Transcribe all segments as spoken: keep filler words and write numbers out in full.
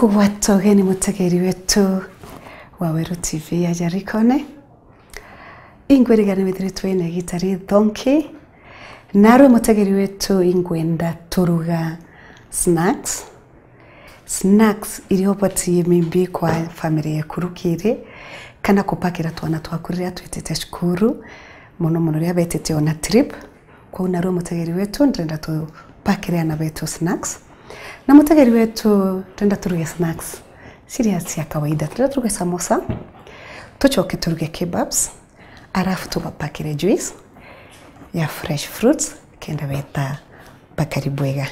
Kugwata ugeni mutegeri wetu wa Weru T V ya Jarikone. Ingwirigania withiritwe wina igita rithonki. Narwe mutegeri wetu, ingwenda turuga snacks. Snacks iria ubatie maybe kwa family yaku rukiri, kana kupakira twana twaku riria twitite cukuru, muno muno riria betite ona trip. Kwou narwe mutegeri wetu, ndrenda tupakire ana betu snacks. Na mutegeri wetu, ndrenda turuge snacks ciria cia kawaida. Ndrenda turuge samosa, tucoke turuge kebabs, arafu tubapakire juice ya fresh fruits, kenda beta bakari bwega.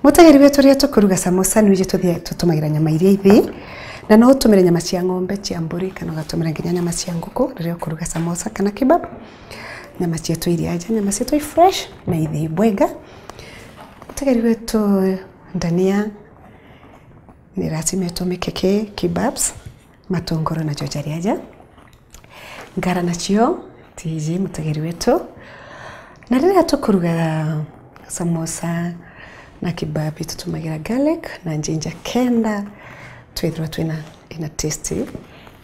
Mutegeri wetu, riria tukuruga samosa, nwiji tuthie tutumagira nyama iria ithi, na no utumire nyama cia ng'ombe, cia mburi, kana ugatumira nginya nyama cia nguku riria ukuruga samosa kana kebab. Nyama cietu iria aja, nyama cietu i fresh na ithi bwega. Mutegeri wetu, ndania ni lazima itumike ki kebabs, matunguru najo jari aja. Ngara nacio tiji, mutegeri wetu. Na riria tukuruga samosa na kebab, tutumagira garlic na ginger kenda twithirwa twina ina taste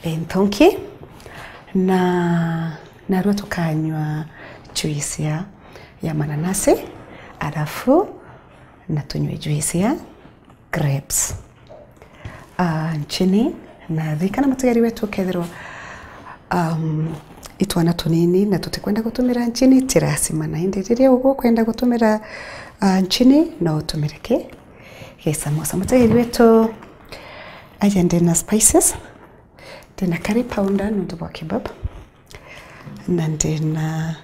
inthonki. Na narua tukanywa juice ya, ya mananasi, arafu na tunywe juice ya grapes. Ah, nchini, na ririkana mutegeri wetu, ukethirwa, um, itwana tunini na tutikwenda gutumira nchini, ti lazima. Na indi riria ugu ukwenda gutumira, ah, nchini, no utumire ki, gi samosa. Mutegeri wetu, aja ndina spices, ndina curry powder nontu bwa kebab. Na ndina,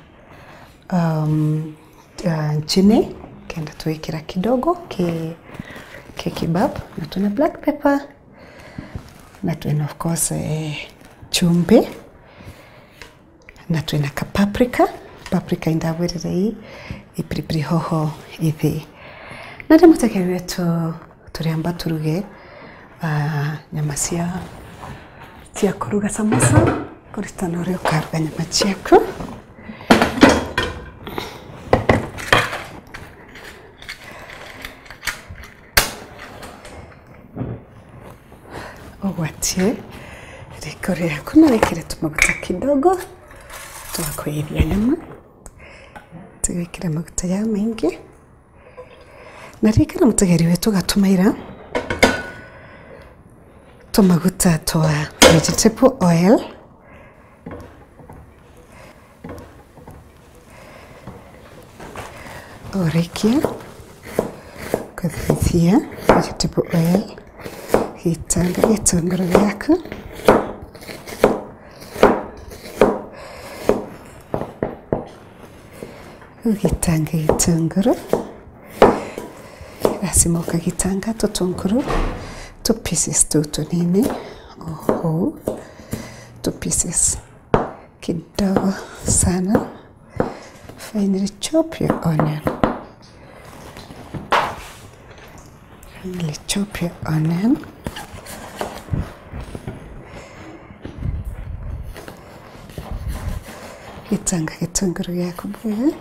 um, uh, nchini, kenda twikira kidogo ki, ki kebab, na twina black pepper, na twina, of course, eh, chumbi, na twina ka paprika. Paprika indabwirire ii, i pilipili hoho ithi. Na riu mutegeri wetu, turiamba turuge, ah, nyama cia, cia kuruga samosa, kuritana uria ukaruga nyama ciaku. Ugwatie riko riaku na wikire tumaguta kidogo twa kuithia nyama. Tigwikira maguta ja maingi. Na ririkana mutegeri wetu, ugatumaira tumaguta twa vegetable oil. Urikia kuthithia vegetable oil, gitanga gitunguru giaku. Ugitanga gitunguru. Lazima ukagitanga tutunguru tu pieces tu tunini. Oho. Tu pieces kidogo sana. Finely chop your onion. Finely chop your onion. Gitanga gitunguru giaku bwega.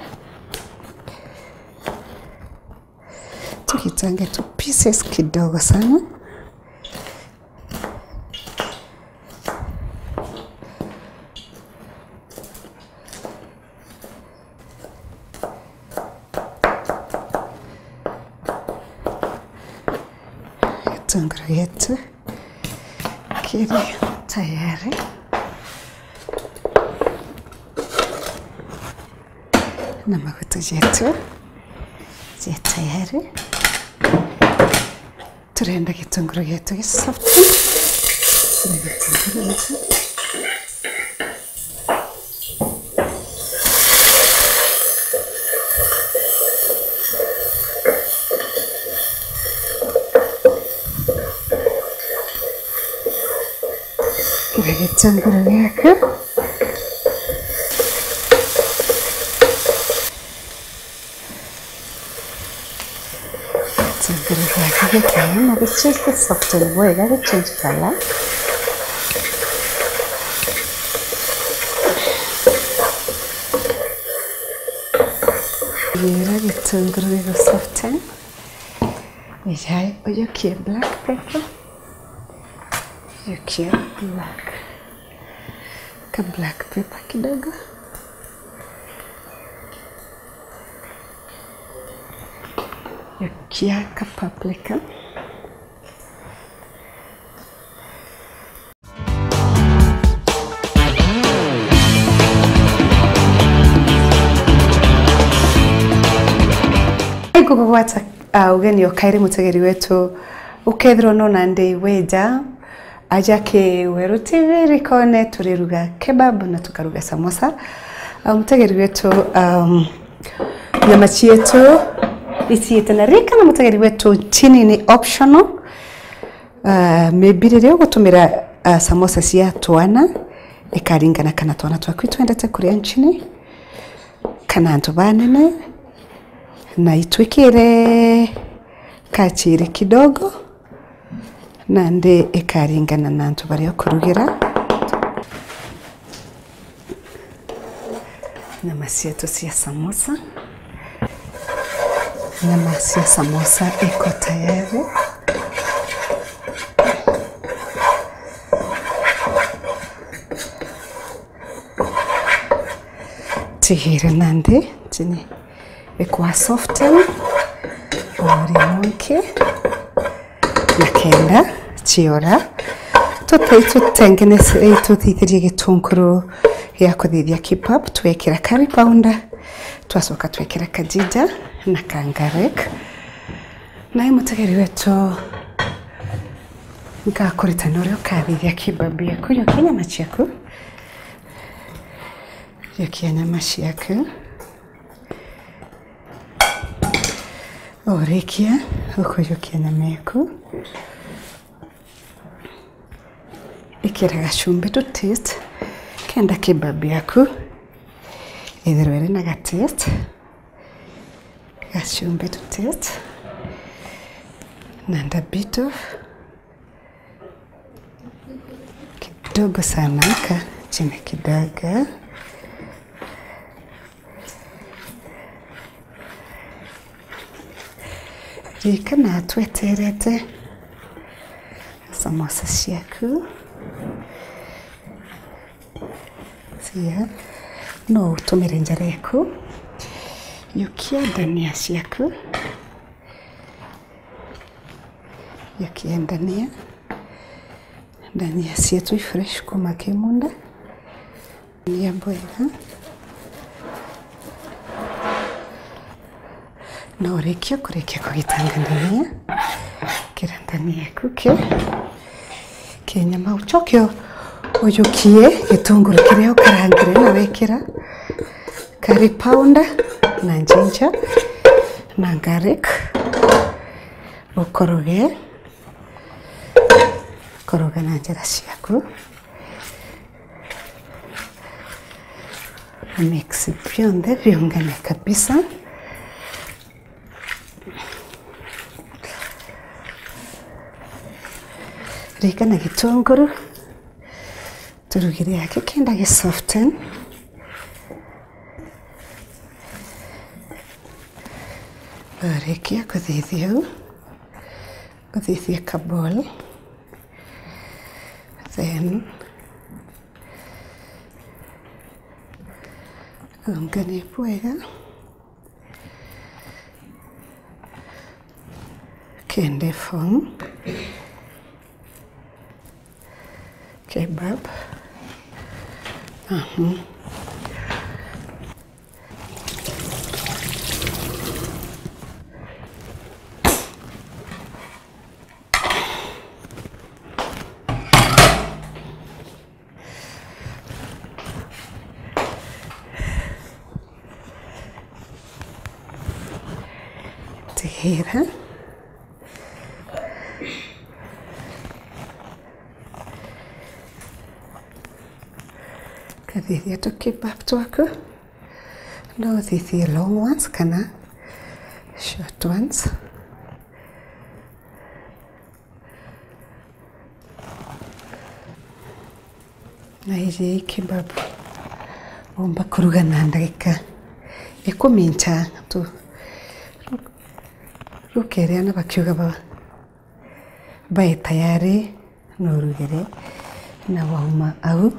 Tugitange tu pieces kidogo sana. Gitunguru gietu kiri tayari na maguta jetu je tayari. Turenda gitunguru gietu gi soft. Turenda gitunguru gietu. Kira gitunguru giaku. Gitunguru giaku gikauma gichange soften bwega, gichange color. Gira gitunguru gigu soften. Ijai ujukie black pepper. Yukia black. Ka black pepper kidogo. Yukia ka paprika. Ngugwata, ah, ugeni o kairi mutegeri wetu, ukethirwa nona ndi weja, aja ki Weru T V rikone turiruga kebab na tukaruga samosa. Ah, mutegeri wetu, um, nyama cietu iciite na rika na mutegeri wetu, nchini ni optional. Ah, maybe riria ugutumira, ah, samosa cia twana, ikaringana kana twana twaku itwendete kuria nchini, kana antu banene, na itwikire kachiri kidogo, nandi ikaringana na antu baria ukurugira. Nyama cietu cia samosa. Nyama cia samosa iko tayari. Tigire nandi chini ikwa soften o rimwe ingi, na kenda chiora. Tute-, tutengeneze, tuthithirie gitunguru gia kuthithia kebab, twekira curry powder, twacoka twekira ka ginger na ka garlic. Nae mutegeri wetu, nkakuritana uria ukathithia kebab yaku. Yukia nyama ciaku, yukia nyama ciaku. Urikia, ukuyukia nyama yaku. Ikira gachumbi to taste, kenda kebab yaku ithirwe iri na ga taste. Gachumbi to taste. Na a bit of kidogo sana ka chini kidogo. Ririkana tweterete samosa ciaku. Cia, no utumire njara yaku. Yukia ndania ciaku. Yukia ndania. Ndania cietu i fresh kuma kimunda. Ndania bwega. Na urikia kurikia kugitanga ndania, kira ndania yaku ki, ki nyama, ucoke u-, uyukie gitunguru kiria ukarangire na wekira curry powder na ginger na garlic, ukoroge, koroga na njara ciaku. Mix bionthe biungane kabisa. Ririkana gitunguru turugire aki kenda gi soften. Urikia kuthithia uu, kuthithia ka ball. Then, unganie bwega. Kende form. Kebab. Aha. Tigera. Kathithia tu kebab twaku. No uthithie long ones kana short ones. Na iji kebab umba kuruga na ndagika ikumi ncha tu. Rukeria na bakiuga ba, bae tayari. Nurugire na wauma au.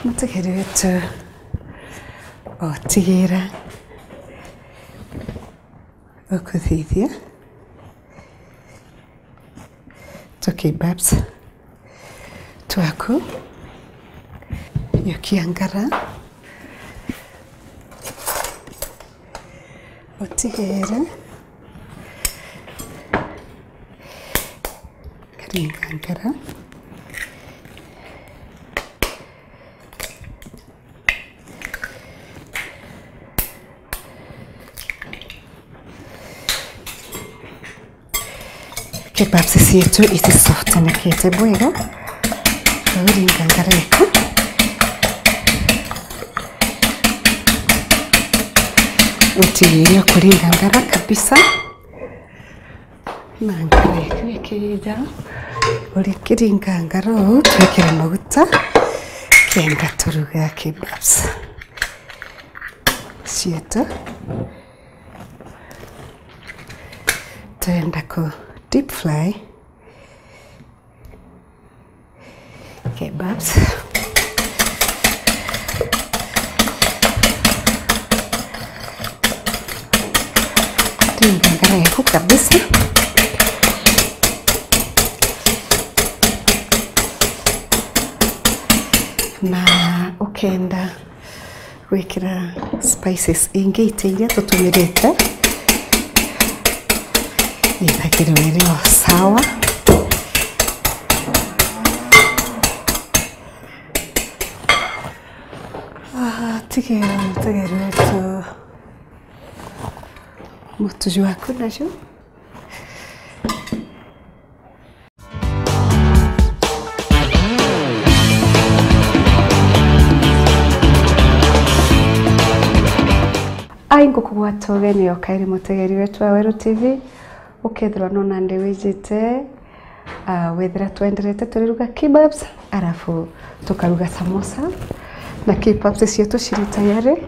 Mutegeri wetu otigira ukuthithia tukibabs twaku. Yukia ngara. Utigere karinga ngara. Kebabs cietu iti softenekete bwega. Uringa ngara eku. Utigiria kuringa ngara kabisa. Na ngara eku ikija. Urikiringa ngara uu, twikire maguta kenda turuga kebabs cietu. Turenda ku deep fry kebabs. Ringa ngara eku kabisa. Na ukenda gwikira spices ingi iti iria tutumirite, ithagirwe iri o sawa. Ah, tigera mutegeri wetu mutu jwaku naju. Ai, ngukugwata ugeni o kairi mutegeri wetu wa Weru T V, ukethirwa nona ndi wijite, ah, wethira twenderete turiruga kebabs, arafu tukaruga samosa, na kebabs cietu ciri tayari.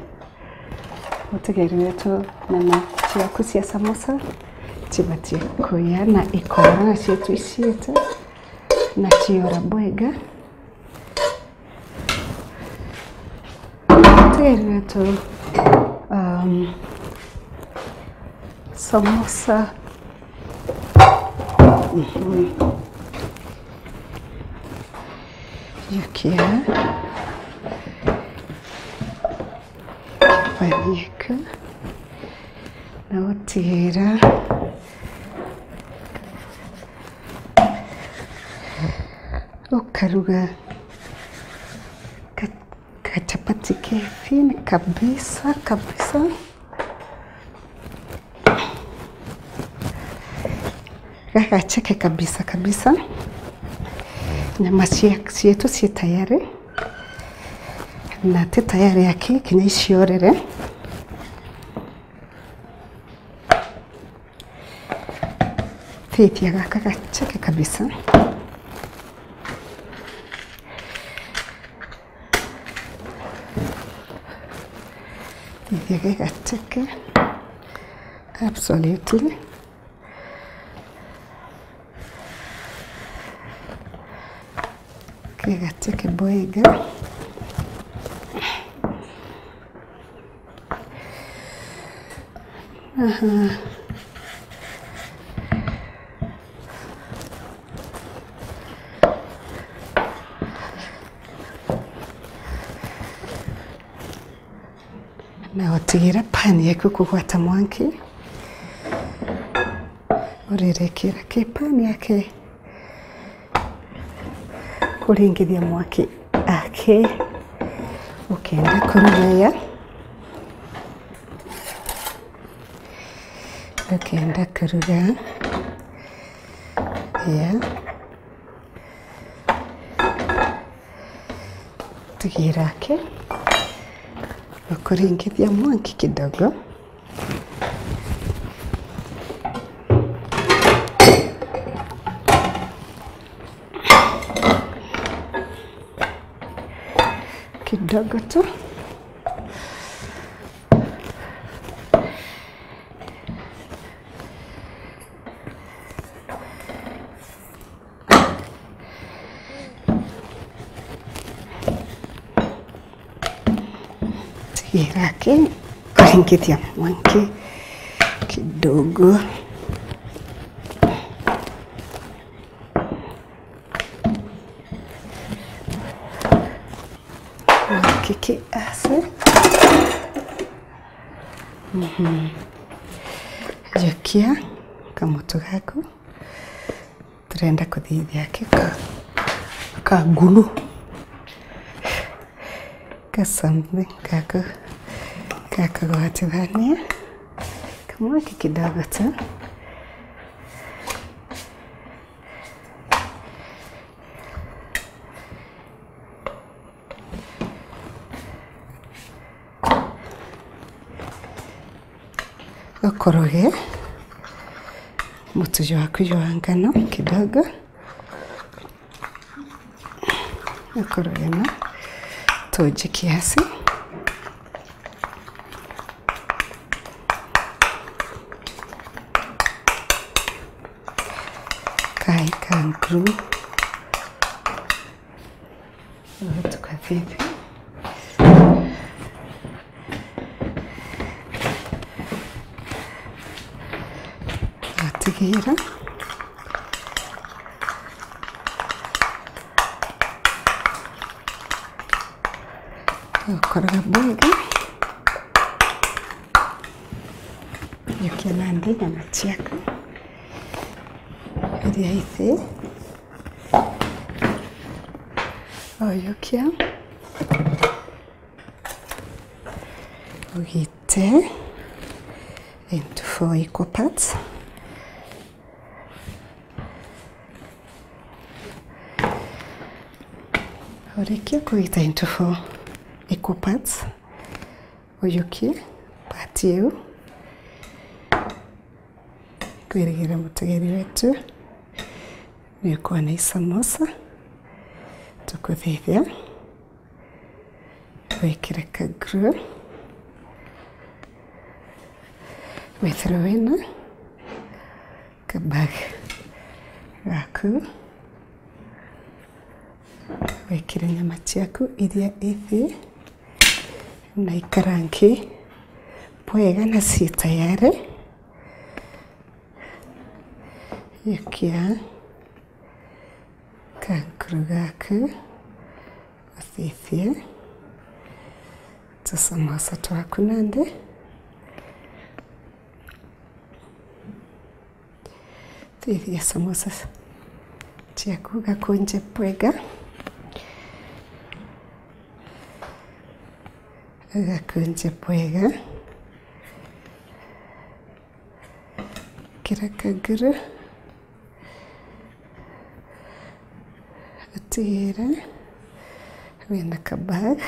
Mutegeri wetu, nyama ciaku cia samosa cibatie kuya na ikora na cietu iciite na ciora bwega. Mutegeri wetu, um, samosa. Mhm. Yukia. Kibani eku. Na utigira ukaruga ka-, kachapati ke thin kabisa, kabisa. Gagacheke kabisa, kabisa. Nyama cia-, cietu ci tayari. Na ti tayari aki, kinya iciorere. Thithia gaka gacheke kabisa. Thithia gacheke. Absolutely. Kegacheke bwega. Aha. Na utigira pan yaku kugwata mwanki, urirekera ki pan yake. Kuringithia mwaki aki ukenda kuruga ya, ukenda kuruga ya. Tigira aki ukuringithia mwanki kidogo. Kidogo tu. Ira ki kuringithia mwanki kidogo. Mwanki ki ase. Mhm. Jukia kamoto gaku. Turenda kuthithia ki ka, ka ngulu. Ka something gaku, gakugwatithania. Kamwaki kidogo tu. Ukoroge mutu jwaku jwa ngano kidogo. Ukoroge na tuuji kiasi. Kai ka nguru. Tukathithia. Twatigira. Gukoroga bwega. Jukia nandi nyama ciaku iria ithi. Ojukia. Ugite into four equal parts. Urikia kugita into four equal parts, ujukie part iu. Kwirigira mutegeri wetu ni ukwona i samosa tukuthithia. Wikire ka glue. Withirwe wina ka bag gaku. Wikire nyama ciaku iria ithi na ikarangi bwega na cii tayari. Jukia kankuru gaku, uthithie tusamosa twaku nandi. Thithia samosa ciaku gakunje bwega, gakunje bwega. Kira kaguru utigire wina ka bag